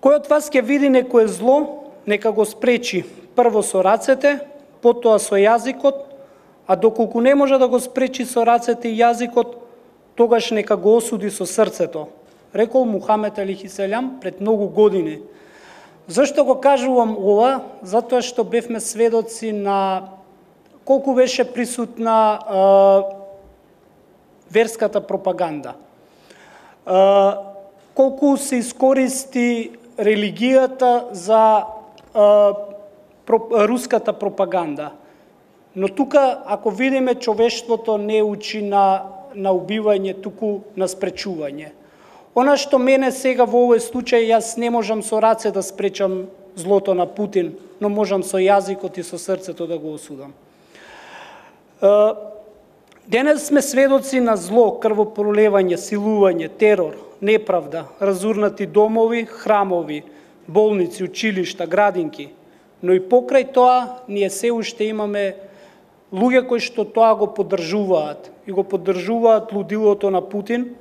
Кој од вас ќе види некое зло, нека го спречи прво со рацете, потоа со јазикот, а доколку не може да го спречи со рацете и јазикот, тогаш нека го осуди со срцето, рекол Мухамед алейхиселам пред многу години. Зашто го кажувам ова? Затоа што бевме сведоци на колку беше присутна верската пропаганда. Колку се искористи религијата за руската пропаганда. Но тука, ако видиме, човештвото не учи на убивање, туку на спречување. Она што мене сега во овој случај, јас не можам со раце да спречам злото на Путин, но можам со јазикот и со срцето да го осудам. Денес сме сведоци на зло, крвопролевање, силување, терор, неправда, разурнати домови, храмови, болници, училишта, градинки. Но и покрај тоа, ние се уште имаме луѓе кои што тоа го поддржуваат. И го поддржуваат лудилото на Путин.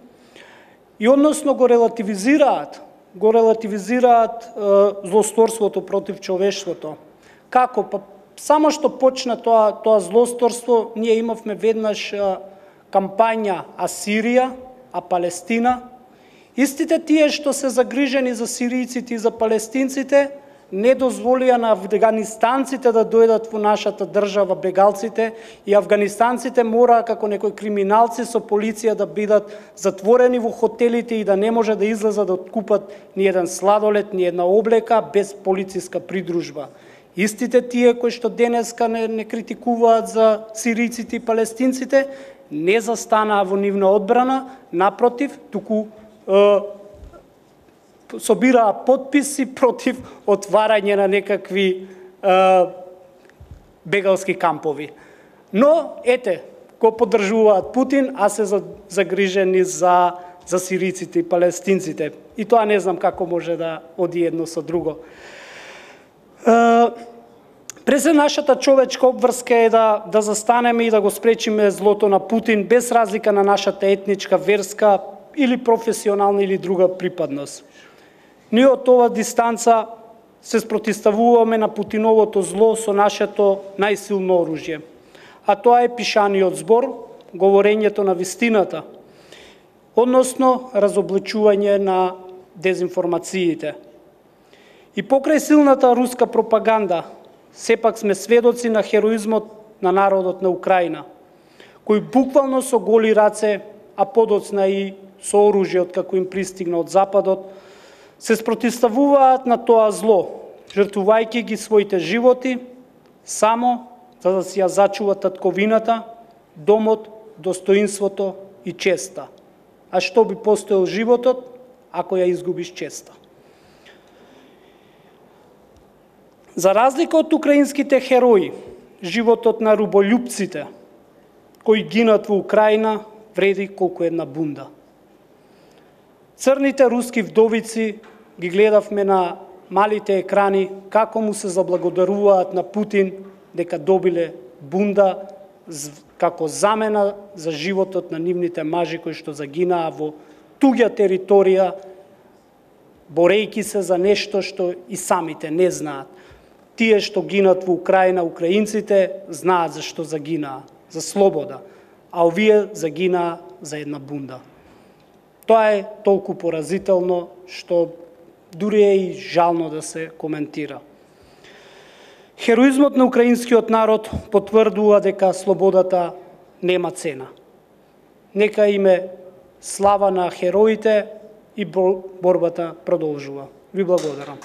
И односно го релативизираат злосторството против човештвото. Како? Па само што почна тоа злосторство, ние имавме веднаш кампања а Сирија, а Палестина. Истите тие што се загрижени за сиријците и за палестинците, не дозволија на афганистанците да дојдат во нашата држава, бегалците, и афганистанците мора како некои криминалци со полиција да бидат затворени во хотелите и да не може да излезат да откупат ни еден сладолед, ни една облека без полициска придружба. Истите тие кои што денеска не критикуваат за сиријците и палестинците, не застанаа во нивна одбрана, напротив, туку собираа потписи против отварање на некакви бегалски кампови. Но, ете, го поддржуваат Путин, а се загрижени за сиријците и палестинците. И тоа не знам како може да оди едно со друго. През нашата човечка обврска е да застанеме и да го спречиме злото на Путин, без разлика на нашата етничка, верска или професионална или друга припадност. Ние од ова дистанца се спротивставуваме на Путиновото зло со нашето најсилно оружје. А тоа е пишаниот збор, говорењето на вистината, односно разобличување на дезинформациите. И покрај силната руска пропаганда, сепак сме сведоци на хероизмот на народот на Украина, кој буквално со голи раце, а подоцна и со оружје откако им пристигна од Западот, се спротивставуваат на тоа зло, жртвувајќи ги своите животи, само за да си ја зачуват татковината, домот, достоинството и честа. А што би постоел животот, ако ја изгубиш честа? За разлика од украинските херои, животот на руболюбците, кои гинат во Украина, вреди колку една бунда. Црните руски вдовици ги гледавме на малите екрани, како му се заблагодаруваат на Путин дека добиле бунда како замена за животот на нивните мажи кои што загинаа во туѓа територија, борејќи се за нешто што и самите не знаат. Тие што гинат во Украина, украинците, знаат за што загинаа, за слобода, а овие загинаа за една бунда. Тоа е толку поразително што дури е и жално да се коментира. Хероизмот на украинскиот народ потврдува дека слободата нема цена. Нека име слава на хероите и борбата продолжува. Ви благодарам.